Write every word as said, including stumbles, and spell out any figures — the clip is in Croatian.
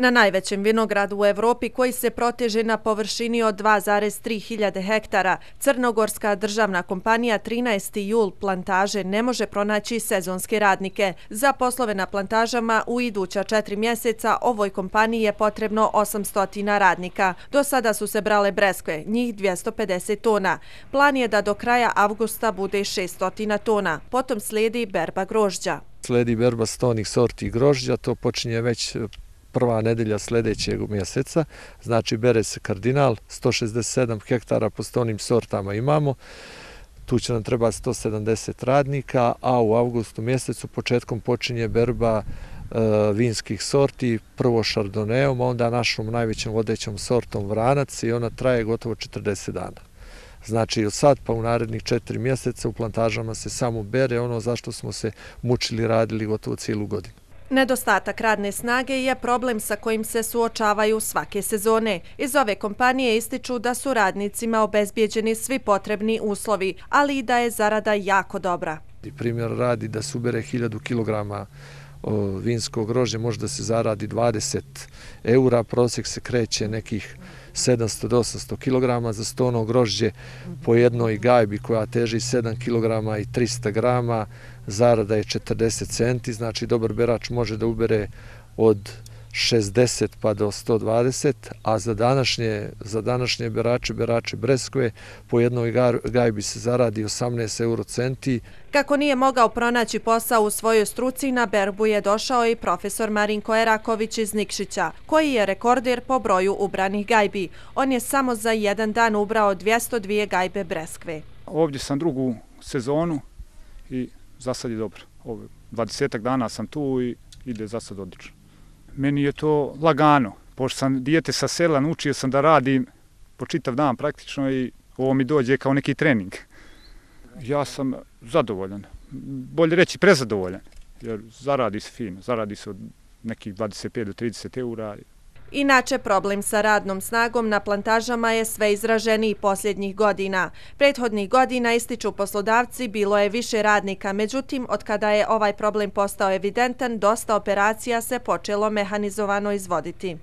Na najvećem vinogradu u Evropi, koji se proteže na površini od dva zarez tri hiljade hektara, crnogorska državna kompanija trinaesti jul plantaže ne može pronaći sezonske radnike. Za poslove na plantažama u iduća četiri mjeseca ovoj kompaniji je potrebno osamsto radnika. Do sada su se brale breskve, njih dvjesto pedeset tona. Plan je da do kraja avgusta bude šeststo tona. Potom slijedi berba grožđa. Slijedi berba stonih sorti grožđa, to počinje već prva nedelja sljedećeg mjeseca, znači bere se kardinal, sto šezdeset sedam hektara po stonim sortama imamo, tu će nam treba sto sedamdeset radnika, a u avgustu mjesecu početkom počinje berba e, vinskih sorti, prvo šardoneom, a onda našom najvećom vodećom sortom vranac i ona traje gotovo četrdeset dana. Znači od sad pa u narednih četiri mjeseca u plantažama se samo bere ono zašto smo se mučili radili gotovo cijelu godinu. Nedostatak radne snage je problem sa kojim se suočavaju svake sezone. Iz ove kompanije ističu da su radnicima obezbijeđeni svi potrebni uslovi, ali i da je zarada jako dobra. Primjer radi da se ubere hiljadu kilograma vinskog grožđa, može da se zaradi dvadeset eura, prosjek se kreće nekih sedamsto do osamsto kilograma za stono grožđe po jednoj gajbi koja teži sedam kilograma i trista grama, zarada je četrdeset centi, znači dobar berač može da ubere od šezdeset pa do sto dvadeset, a za današnje, za današnje berače, berače breskve, po jednoj gajbi se zaradi osamnaest euro centi. Kako nije mogao pronaći posao u svojoj struci, na berbu je došao i profesor Marinko Eraković iz Nikšića, koji je rekorder po broju ubranih gajbi. On je samo za jedan dan ubrao dvjesto dvije gajbe breskve. Ovdje sam drugu sezonu i za sad je dobro. dvadesetak dana sam tu i ide za sad odlično. Meni je to lagano, pošto sam dijete sa sela, naučio sam da radim po čitav dan praktično i ovo mi dođe kao neki trening. Ja sam zadovoljan, bolje reći prezadovoljan, jer zaradi se fino, zaradi se od nekih dvadeset pet do trideset eura. Inače, problem sa radnom snagom na plantažama je sve izraženiji posljednjih godina. Prethodnih godina, ističu poslodavci, bilo je više radnika, međutim, od kada je ovaj problem postao evidentan, dosta operacija se počelo mehanizovano izvoditi.